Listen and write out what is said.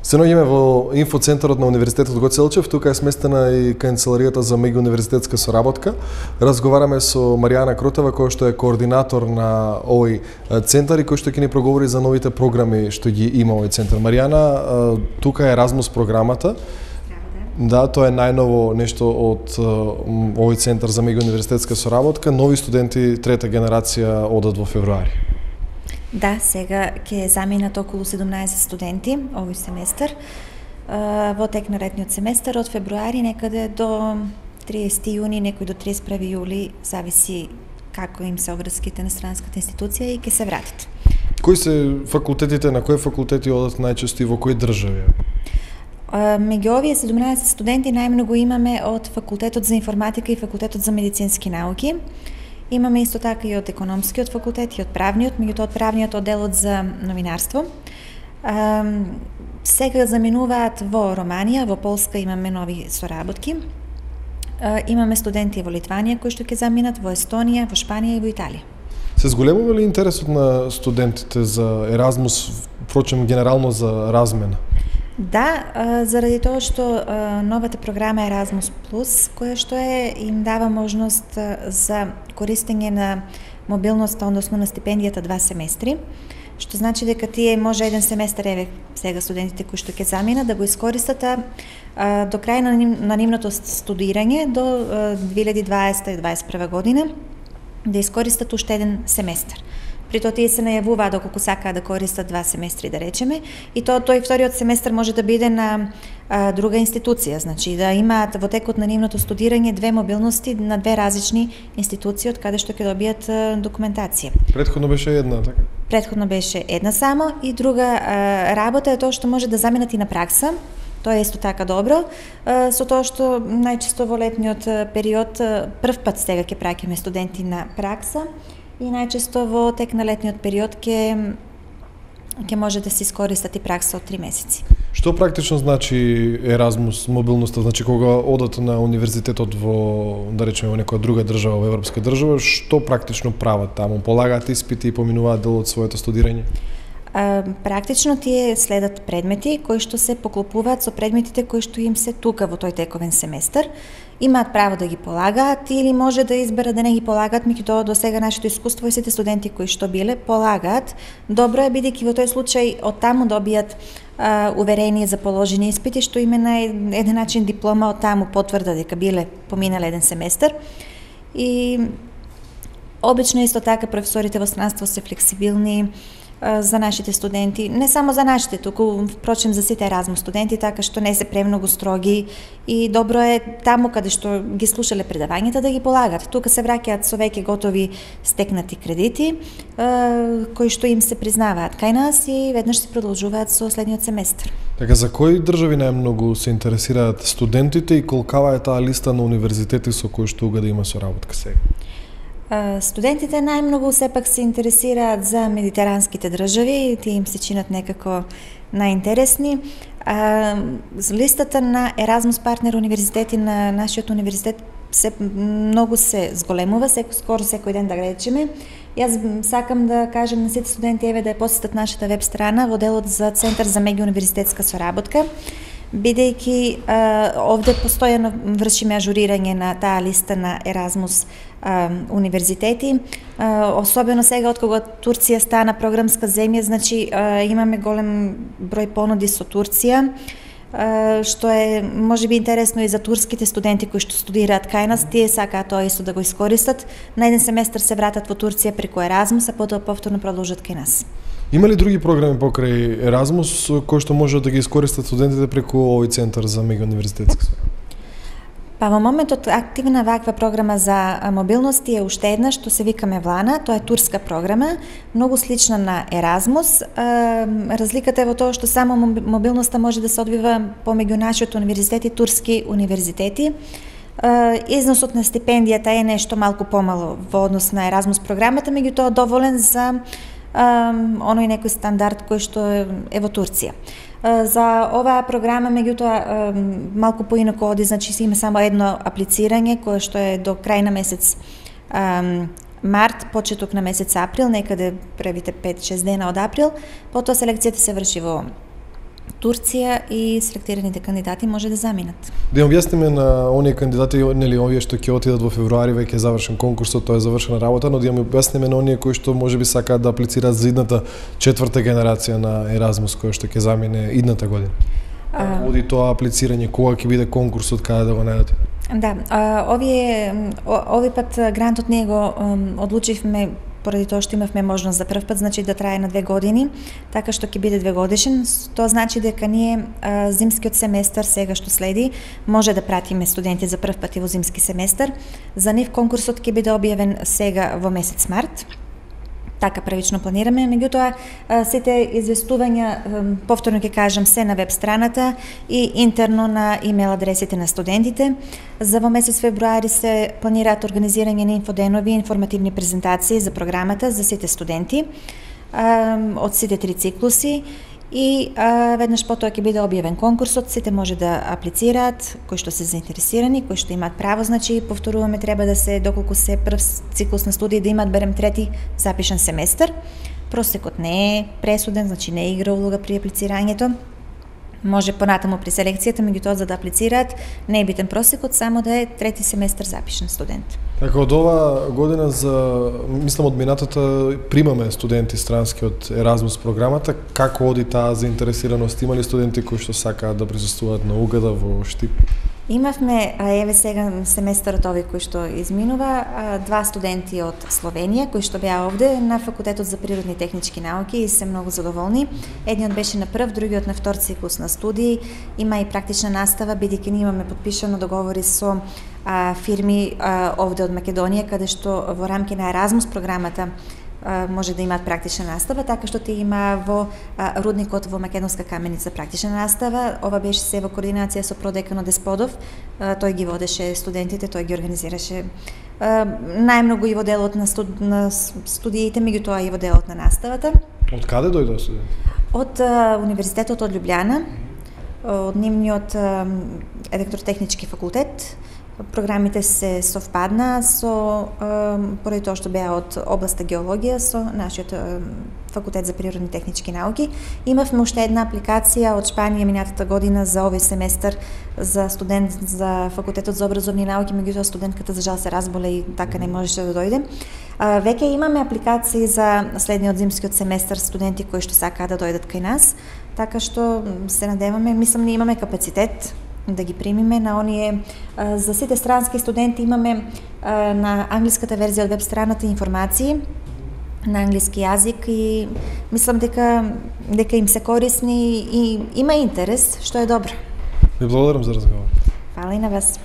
Се наоѓаме во инфоцентарот на Универзитетот Гоце Делчев, тука е сместена и канцеларијата за меѓууниверзитетска соработка. Разговараме со Маријана Кротева, која што е координатор на овој центар и кој што ќе ни проговори за новите програми што ги има овој центар. Маријана, тука е Еразмус програмата. Да, тоа е најново нешто од овој центар за меѓууниверзитетска соработка. Нови студенти трета генерација одат во февруари. Да, сега ќе заминат околу 17 студенти овој семестар. Во тек на летниот семестар од февруари некаде до 30 јуни, некој до 31 јули, зависи како им се обврските на странската институција и ќе се вратат. Кои се факултетите, на кои факултети одат најчесто и во кои држави? Меѓу овие 17 студенти најмногу имаме од факултетот за информатика и факултетот за медицински науки. Имаме исто така и од економскиот факултет и од правниот, меѓутоа од правниот одделот за новинарство. Сега заминуваат во Романија, во Полска имаме нови соработки. Имаме студенти во Литванија кои што ќе заминат, во Естонија, во Шпанија и во Италија. Се зголемува ли интересот на студентите за Еразмус, впрочем генерално за размена? Да, заради тоа што новата програма Erasmus+, која што им дава можност за користење на мобилноста, односно на стипендијата 2 семестри, што значи дека тие може еден семестар, еве сега студентите кои што ќе заминат, да го искористат до крај на нивното студирање, до 2020-2021 година, да искористат уште еден семестар. При тоа тие се најавуваат доколку сакаат да користат 2 семестри, да речеме, и тој вториот семестар може да биде на друга институција, значи да имаат во текот на нивното студирање 2 мобилности на 2 различни институции од каде што ќе добијат документација. Претходно беше една, така? Претходно беше една само, и друга работа е тоа што може да заменат и на пракса. Тоа е исто така добро, со тоа што најчесто во летниот период прв пат сега ќе праќаме студенти на пракса, и најчесто во тек на летниот период ќе може да се искористат и пракса од 3 месеци. Што практично значи Еразмус, мобилноста? Значи кога одат на универзитетот во, да речеме, во некоја друга држава, во европска држава, што практично прават таму? Полагаат испити и поминуваат дел од своето студирање? Практично тие следат предмети кои што се поклопуваат со предметите кои што им се тука во тој тековен семестар. Имаат право да ги полагаат или може да изберат да не ги полагаат, меѓутоа до сега нашето искуство и сите студенти кои што биле полагаат. Добро е бидејќи во тој случај од таму добијат уверение за положени испити, што им е на еден начин диплома, од таму потврда дека биле поминале еден семестар. И обично исто така професорите во странство се флексибилни за нашите студенти, не само за нашите, туку впрочем за сите Еразмус студенти, така што не се премногу строги, и добро е таму каде што ги слушале предавањата да ги полагат. Тука се враќаат со веќе готови стекнати кредити, кои што им се признаваат кај нас и веднаш се продолжуваат со следниот семестар. Така, за кои држави најмногу се интересираат студентите и колкава е таа листа на универзитети со кои што уга да има соработка сега? Студентите најмногу сепак се интересираат за медитеранските држави, тие им се чинат некако најинтересни. Листата на Еразмус партнер универзитети на нашиот универзитет многу се зголемува, скоро секој ден да речеме. Јас сакам да кажам на сите студенти еве да ја посетат нашата веб страна во делот за Центар за меѓууниверзитетска соработка, бидејќи овде постојано вршиме ажурирање на таа листа на Еразмус универзитети, особено сега од кога Турција стана програмска земја, значи имаме голем број понуди со Турција, што е можеби интересно и за турските студенти кои што студираат кај нас. Тие сакаат тоа исто да го искористат. На еден семестар се вратат во Турција преку Еразмус, а потоа повторно продолжат кај нас. Има ли други програми покрај Еразмус кои што можат да ги искористат студентите преку овој центар за меѓууниверзитетска соработка? Па во моментот активна ваква програма за мобилност е уште една што се вика Мевлана, тоа е турска програма, многу слична на Еразмус. Разликата е во тоа што само мобилноста може да се одвива помеѓу нашиот универзитет и турски универзитети. Износот на стипендијата е нешто малку помало во однос на Еразмус програмата, меѓутоа доволен за оној некој стандард кој што е во Турција. За оваа програма, меѓутоа, малку поинаку оди, значи има само едно аплицирање кое што е до крај на месец март, почеток на месец април, некаде првите 5-6 дена од април, потоа селекцијата се врши во Турција и селектираните кандидати може да заминат. Да им објасниме на оние кандидати, нели овие што ќе отидат во февруари, веќе е завршен конкурсот, тоа е завршена работа, но да им објасниме на оние кои што можеби сакаат да аплицираат за идната четврта генерација на Еразмус која што ќе замине идната година. Оди тоа аплицирање, кога ќе биде конкурсот, каде да го најдете? Да, овој пат грантот не го одлучивме поради тоа што имавме можност за прв пат, значи да трае на 2 години, така што ќе биде 2 годишен. Тоа значи дека ние зимскиот семестар сега што следи може да пратиме студенти за прв пат и во зимски семестар. За нив конкурсот ќе биде објавен сега во месец март. Така првично планираме, меѓутоа сите известувања, повторно ќе кажам, се на веб страната и интерно на имейл адресите на студентите. За во месец февруари се планираат организирање на инфоденови и информативни презентации за програмата за сите студенти од сите 3 циклуси и веднаш потоа ќе биде објавен конкурсот, сите може да аплицираат, кои што се заинтересирани, кои што имаат право, значи повторуваме, треба да се, доколку се прв циклус на студии, да имаат барем 3 запишан семестар. Просекот не е пресуден, значи не игра улога при аплицирањето. Може понатаму при селекцијата, меѓутоа за да аплицираат не е битен просекот, само да е 3 семестар запишан студент. Така, од ова година мислам од минатата примаме студенти странски од Еразмус програмата. Како оди таа заинтересираност? Има ли студенти кои што сакаат да присуствуваат на Угада во Штип? Имавме, еве сега семестарот овој кој што изминува, 2 студенти од Словенија кои што беа овде на факултетот за природни и технички науки и се многу задоволни. Едниот беше на прв, другиот на втор циклус на студии. Има и практична настава, бидејќи ние имаме подпишано договори со фирми овде од Македонија, каде што во рамки на Еразмус програмата може да имаат практична настава, така што има во рудникот во Македонска каменица практична настава. Ова беше се во координација со продеканот Десподов. Тој ги водеше студентите, тој ги организираше најмногу и во делот на студиите, меѓутоа и во делот на наставата. Од каде дојдоа студенти? Од Универзитетот од Љубљана, од нивниот електротехнички факултет. Програмите се совпадна поради тоа што беа од областа геологија со нашиот факултет за природни технички науки. Имавме уште една апликација од Шпанија минатата година за овој семестар за студент за факултетот за образовни науки, меѓутоа студентката за жал се разболе и така не можеше да дојде. Веќе имаме апликации за следниот зимскиот семестар студенти кои што сакаат да дојдат кај нас, така што се надеваме, мислам ние имаме капацитет да ги примиме на оние. За сите странски студенти имаме на англиската верзија од веб страната информации на англиски јазик и мислам дека им се корисни и има интерес, што е добро. Ви благодарам за разговор. Фала и на вас.